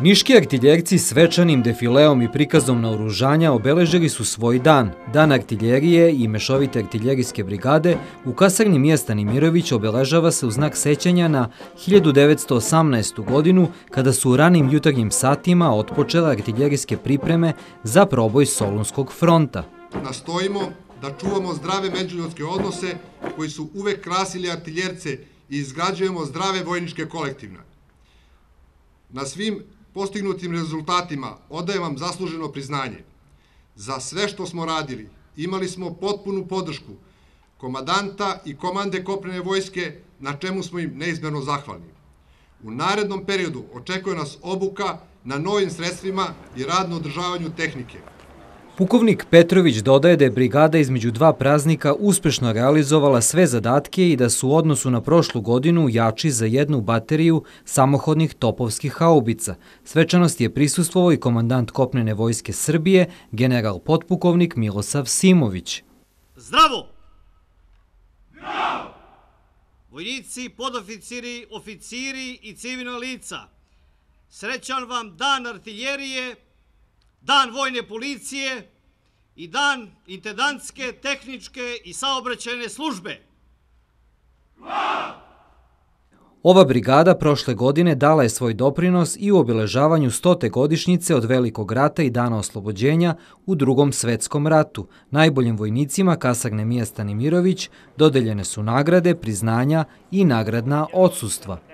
Niški artiljerci svečanim defileom i prikazom naoružanja obeležili su svoj dan. Dan artiljerije i mešovite artiljerijske brigade u kasarni mjesta Nemirović obeležava se u znak sećanja na 1918. godinu kada su u ranim jutarnjim satima otpočele artiljerijske pripreme za proboj Solunskog fronta. Nastojimo da čuvamo zdrave međuljudske odnose koji su uvek krasili artiljerce i izgrađujemo zdrave vojničke kolektivne. Na svim postignutim rezultatima odajem vam zasluženo priznanje. Za sve što smo radili imali smo potpunu podršku komadanta i komande kopnene vojske, na čemu smo im neizmjerno zahvalni. U narednom periodu očekuje nas obuka na novim sredstvima i rad na održavanju tehnike. Pukovnik Petrović dodaje da je brigada između dva praznika uspešno realizovala sve zadatke i da su u odnosu na prošlu godinu jači za jednu bateriju samohodnih topovskih haubica. Svečanosti je prisustvovao i komandant kopnene vojske Srbije, general potpukovnik Milosav Simović. Zdravo! Zdravo! Vojnici, podoficiri, oficiri i civilna lica, srećan vam dan artiljerije, dan vojne policije i dan intendantske, tehničke i saobraćajne službe. Ova brigada prošle godine dala je svoj doprinos i u obeležavanju 100. godišnjice od Velikog rata i Dana oslobođenja u Drugom svetskom ratu. Najboljim vojnicima kasarne mjesta Nemirović dodeljene su nagrade, priznanja i nagradna odsustva.